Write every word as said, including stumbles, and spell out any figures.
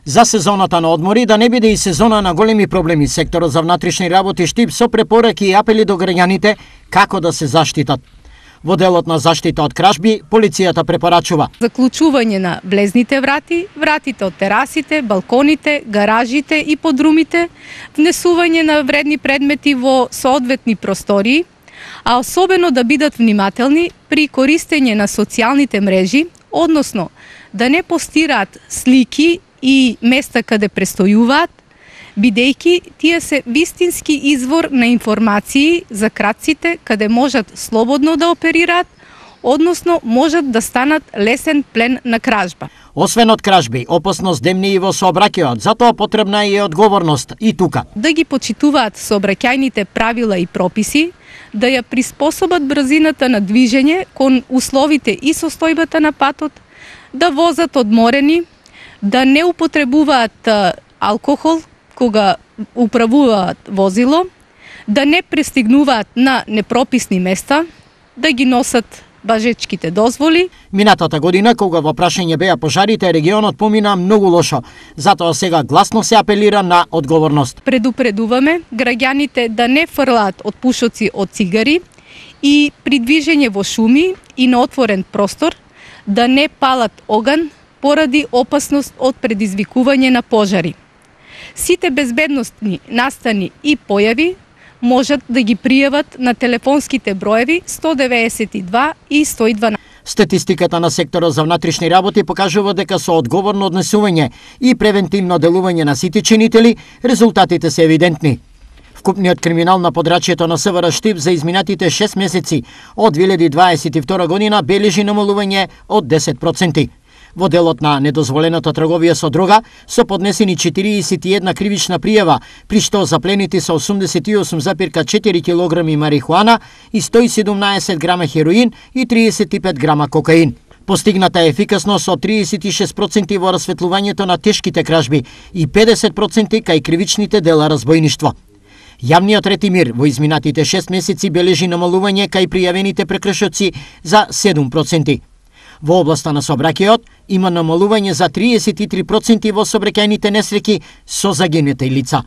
За сезоната на одмори да не биде и сезона на големи проблеми, секторот за внатрешни работи штип со препораки и апели до граѓаните како да се заштитат. Во делот на заштита од кражби, полицијата препорачува заклучување на влезните врати, вратите од терасите, балконите, гаражите и подрумите, внесување на вредни предмети во соодветни простории, а особено да бидат внимателни при користење на социјалните мрежи, односно да не постираат слики и места каде престојуваат, бидејќи тие се вистински извор на информации за крадците каде можат слободно да оперираат, односно можат да станат лесен плен на кражба. Освен од кражби, опасност демни и во сообраќајот, затоа потребна е и одговорност и тука. Да ги почитуваат сообраќајните правила и прописи, да ја приспособат брзината на движење кон условите и состојбата на патот, да возат одморени, да не употребуваат алкохол кога управуваат возило, да не пристигнуваат на непрописни места, да ги носат важечките дозволи. Минатата година, кога во прашање беа пожарите, регионот помина многу лошо. Затоа сега гласно се апелира на одговорност. Предупредуваме граѓаните да не фрлаат од пушоци од цигари и при движење во шуми и на отворен простор да не палат оган поради опасност од предизвикување на пожари. Сите безбедносни настани и појави можат да ги пријават на телефонските броеви сто деветдесет и два и сто и дванаесет. Статистиката на секторот за внатрешни работи покажува дека со одговорно однесување и превентивно делување на сите чинители, резултатите се евидентни. Вкупниот криминал на подрачјето на СВР Штип за изминатите шест месеци од две илјади дваесет и втора година бележи намалување од десет проценти. Во делот на недозволената трговија со дрога со поднесени четириесет и една кривична пријава, при што запленети се осумдесет и осум зарез четири килограми марихуана и сто и седумнаесет грама хероин и триесет и пет грама кокаин. Постигната е ефикасност од триесет и шест проценти во расветлувањето на тешките кражби и педесет проценти кај кривичните дела разбојништво. Јавниот ред и мир во изминатите шест месеци бележи намалување кај пријавените прекршоци за седум проценти. Во областа на сообраќајот има намалување за триесет и три проценти во сообраќајните несреќи со загинати лица.